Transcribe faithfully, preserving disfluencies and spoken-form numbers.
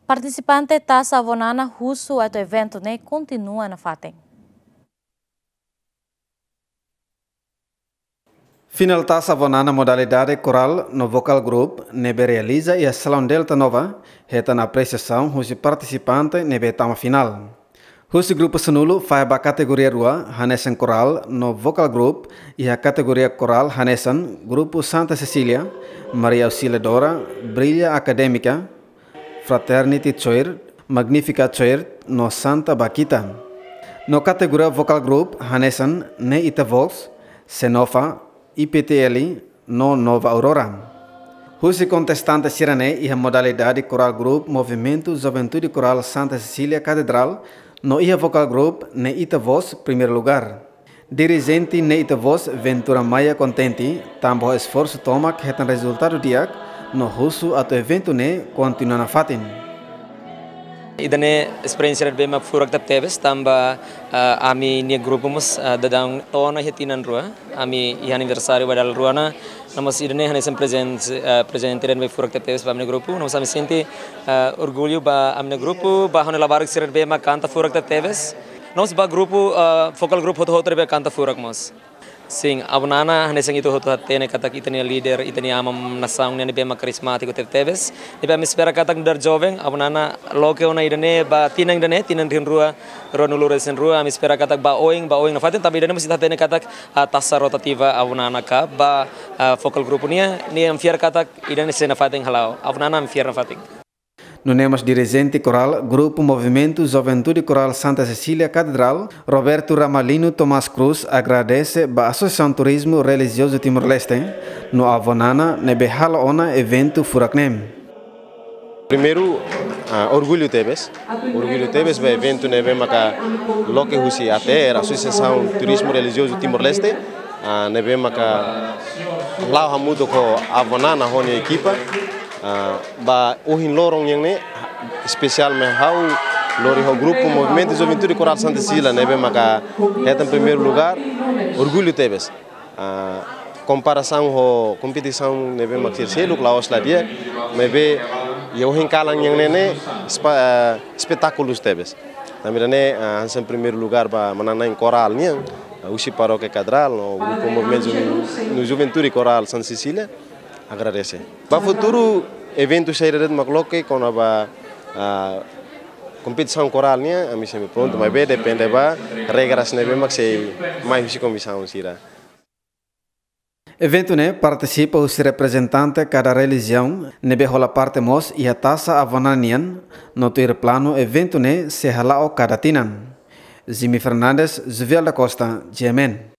Partisipante Taça Avó Nana husu atu eventu ne'e kontinua nafatin. Final Taça Avó Nana modalidade koral no vocal group ne'ebé realiza iha Salaun Delta Nova, hetan apresiasaun husi partisipante ne'ebé tama final. Husi grupu sanulu fahe ba kategoria rua, hanesan koral no vocal group, iha kategoria koral hanesan grupu Santa Cecília, Maria Auxiliadora, Brilha Académica, Fraternity Choir, Magnifica Choir no Santa Baquita. No kategoria vocal group hanesan Ne'e Ita Voz, Senofa, I P T L no Nova Aurora. Husi kontestante sira-ne'e iha modalidade koral group Movimentu Juventude Koral Santa Cecília Katedrál no iha vocal group Ne'e Ita Voz primeiru lugár. Dirijente Ne'e Ita Voz Ventura Maia kontente tanba ho esforsu tomak hetan rezultadu di'ak no husu atu eventu ne'e kontinua nafatin. Ida-ne'e esperiénsia ne'ebé mak furak tebetebes tanba, ah, ami-nia grupu mós, ah, daudaun to'o ona iha tinan rua. Ami iha aniversáriu ba dala rua ona, no mós ida-ne'e hanesan prezente, ah, prezente ne'ebé furak tebetebes ba ami-nia grupu. No mós ami sente, ah, orgullu ba ami-nia grupu, ba ha'u-nia labarik sira ne'ebé mak kanta furak tebetebes. No mós ba grupu, ah, vocal group hotu-hotu ne'ebé kanta furak mós. Sin, Avó Nana, hanesan ita hotu hatene katak ita-nia líder, ita-nia aman nasaun nian ne'ebé mak karizmátiku tebetebes. Ne'ebé ami espera katak nu'udar joven, Avó Nana loke ona ida-ne'e ba tinan ida-ne'e, tinan rihun rua, ruanulu-resin-rua, ami espera katak ba oin, ba oin nafatin, tanba ida-ne'e mós ita hatene katak, ah, taxa rotativa Avó Nana Cup, ba, ah, vocal group nian, ne'e ami fiar katak ida-ne'e sei nafatin hala'o, Avó Nana ami fiar nafatin. Nune'e mós dirijente koral, grupu Movimentu Juventude Koral Santa Cecília Katedrál, Roberto Ramalino Tomás Cruz agradese ba Asosiasaun Turizmu Relijiozu Timor-Leste, no Avó Nana ne'ebé hala'o ona eventu furak ne'e. Primeiru, ah, orgullu tebes. Orgullu tebes ba eventu ne'ebé maka loke husi A T R, Asosiasaun Turizmu Relijiozu Timor-Leste, ah, ne'ebé maka la'o hamutuk ho Avó Nana ho nia ekipa. Ah, ba ohin loron nian ne'e, espesiál mai ha'u lori ho grupu Movimentu Juventude Koral Santa Cecília ne'ebé maka hetan primeiru lugár, orgullu tebes. Ah, komparasaun ho kompetisaun ne'ebé mak sira seluk la'ós la di'ak, maibé iha ohin kalan nian ne'e ne'e espa-, ah, espetákulu tebes. Tanba ida-ne'e, ah, hanesan primeiru lugár ba manán-na'in koral nian, ah, husi Parókia Katedrál, no grupu Movimentu Juven-, no Juventude Koral Santa Cecília, agradese. Ba futuru, eventu saida de'it mak loke kona-ba, ah, kompetisaun koral nian, ami sempre prontu, maibé depende ba regras ne'ebé mak sei mai husi komisaun sira. Eventu ne'e partisipa husi reprezentante kada relijiaun, ne'ebé hola parte mós iha taxa Avó Nana nian, no tuir planu eventu ne'e sei hala'o kada tinan. Jimmy Fernandes, Juvial da Costa, G M N.